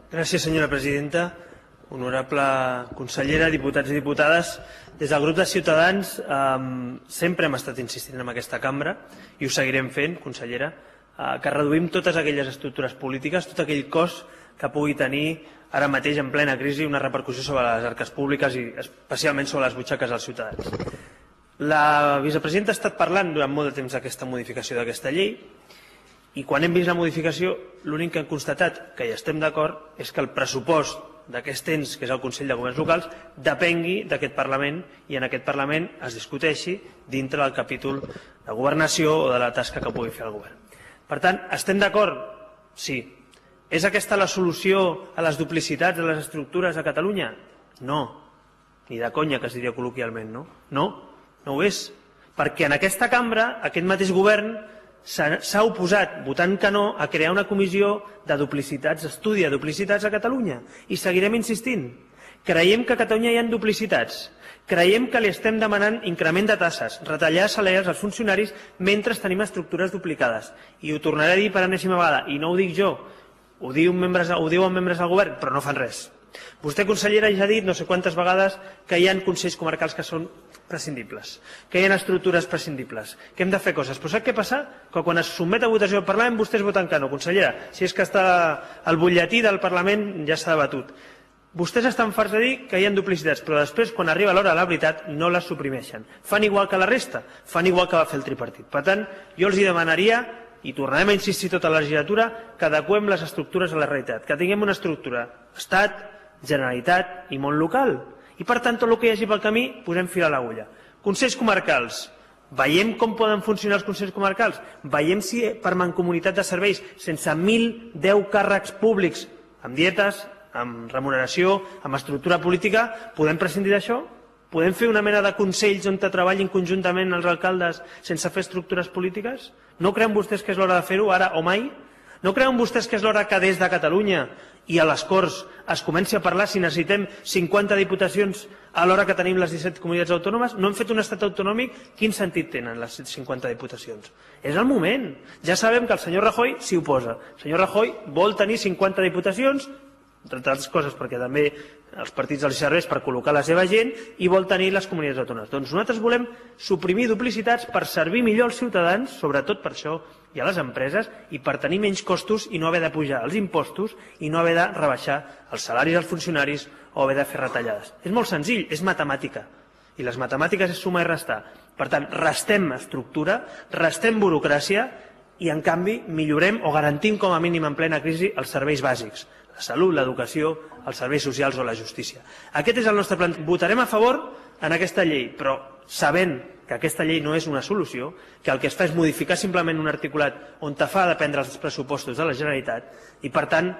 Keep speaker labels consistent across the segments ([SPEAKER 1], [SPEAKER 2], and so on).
[SPEAKER 1] Gràcies, senyora presidenta. Honorable consellera, diputats i diputades, des del grup de Ciutadans sempre hem estat insistint en aquesta cambra i ho seguirem fent, consellera, que reduïm totes aquelles estructures polítiques, tot aquell cost que pugui tenir ara mateix en plena crisi una repercussió sobre les arques públiques i especialment sobre les butxaques dels ciutadans. La vicepresidenta ha estat parlant durant molt de temps d'aquesta modificació d'aquesta llei i quan hem vist la modificació l'únic que hem constatat, que hi estem d'acord, és que el pressupost d'aquest ens, que és el Consell de Governs Locals, depengui d'aquest Parlament i en aquest Parlament es discuteixi dintre del capítol de governació o de la tasca que pugui fer el govern. Per tant, estem d'acord? Sí. És aquesta la solució a les duplicitats de les estructures a Catalunya? No. Ni de conya, que es diria col·loquialment, no? No, no ho és. Perquè en aquesta cambra, aquest mateix govern s'ha oposat, votant que no, a crear una comissió de duplicitats, d'estudi de duplicitats a Catalunya. I seguirem insistint. Creiem que a Catalunya hi ha duplicitats. Creiem que li estem demanant increment de tasses, retallar salaris als funcionaris mentre tenim estructures duplicades. I ho tornaré a dir per enèsima vegada, i no ho dic jo, ho diuen membres del govern, però no fan res. Vostè, consellera, ja ha dit no sé quantes vegades que hi ha consells comarcals que són prescindibles, que hi ha estructures prescindibles, que hem de fer coses. Però sap què passa? Que quan es sotmet a votació al Parlament vostès voten que no, consellera. Si és que està el butlletí del Parlament ja s'ha debatut. Vostès estan farts de dir que hi ha duplicitats, però després, quan arriba l'hora de la veritat, no les suprimeixen. Fan igual que la resta, fan igual que va fer el tripartit. Per tant, jo els demanaria, i tornarem a insistir tota la legislatura, que adequem les estructures a la realitat, que tinguem una estructura Estat, Generalitat i món local. I per tant, tot el que hi hagi pel camí, posem fil a l'agulla. Consells comarcals. Veiem com poden funcionar els consells comarcals. Veiem si per mancomunitat de serveis, sense 1.010 càrrecs públics, amb dietes, amb remuneració, amb estructura política, podem prescindir d'això? Podem fer una mena de consells on treballin conjuntament els alcaldes sense fer estructures polítiques? No creuen vostès que és l'hora de fer-ho, ara o mai? No creuen vostès que és l'hora que des de Catalunya i a les Corts es comenci a parlar si necessitem 50 diputacions a l'hora que tenim les 17 comunitats autònomes? No hem fet un estat autonòmic? Quin sentit tenen les 50 diputacions? És el moment. Ja sabem que el senyor Rajoy s'hi oposa. El senyor Rajoy vol tenir 50 diputacions, entre altres coses perquè també els partits els serveix per col·locar la seva gent, i vol tenir les comunitats autònomes. Doncs nosaltres volem suprimir duplicitats per servir millor als ciutadans, sobretot per això, i a les empreses, i per tenir menys costos i no haver de pujar els impostos i no haver de rebaixar els salaris als funcionaris o haver de fer retallades. És molt senzill, és matemàtica. I les matemàtiques és sumar i restar. Per tant, restem estructura, restem burocràcia i, en canvi, millorem o garantim com a mínim en plena crisi els serveis bàsics. La salut, l'educació, els serveis socials o la justícia. Aquest és el nostre plan. Votarem a favor en aquesta llei, però sabent que aquesta llei no és una solució, que el que es fa és modificar simplement un articulat on fa dependre els pressupostos de la Generalitat, i per tant,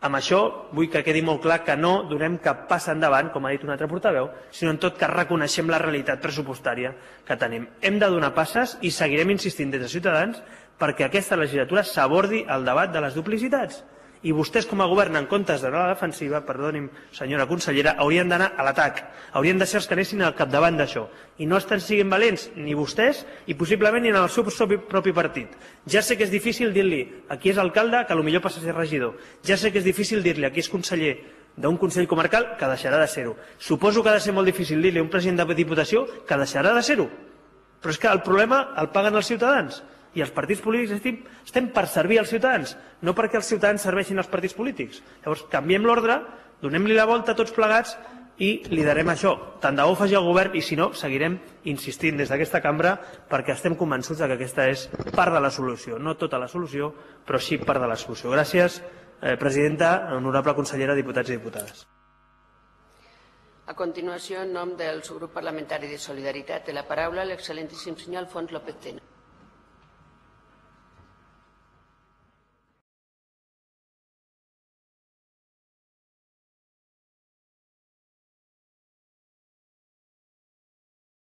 [SPEAKER 1] amb això vull que quedi molt clar que no donem cap pas endavant, com ha dit un altre portaveu, sinó en tot cas reconeixem la realitat pressupostària que tenim. Hem de donar passes i seguirem insistint des de Ciutadans perquè aquesta legislatura s'abordi el debat de les duplicitats. I vostès, com a govern, en comptes d'anar a la defensiva, perdoni'm, senyora consellera, haurien d'anar a l'atac. Haurien de ser els que anessin al capdavant d'això. I no estan siguin valents ni vostès i possiblement ni en el seu propi partit. Ja sé que és difícil dir-li a qui és alcalde que potser passa a ser regidor. Ja sé que és difícil dir-li a qui és conseller d'un Consell Comarcal que deixarà de ser-ho. Suposo que ha de ser molt difícil dir-li a un president de Diputació que deixarà de ser-ho. Però és que el problema el paguen els ciutadans. I els partits polítics estem per servir als ciutadans, no perquè els ciutadans serveixin als partits polítics. Llavors, canviem l'ordre, donem-li la volta a tots plegats i liderem això. Tant de bo ho faci el govern i, si no, seguirem insistint des d'aquesta cambra perquè estem convençuts que aquesta és part de la solució. No tota la solució, però sí part de la solució. Gràcies, presidenta, honorable consellera, diputats i diputades.
[SPEAKER 2] A continuació, en nom del subgrup parlamentari de Solidaritat, té la paraula l'excel·lentíssim senyor Alfons López Tena.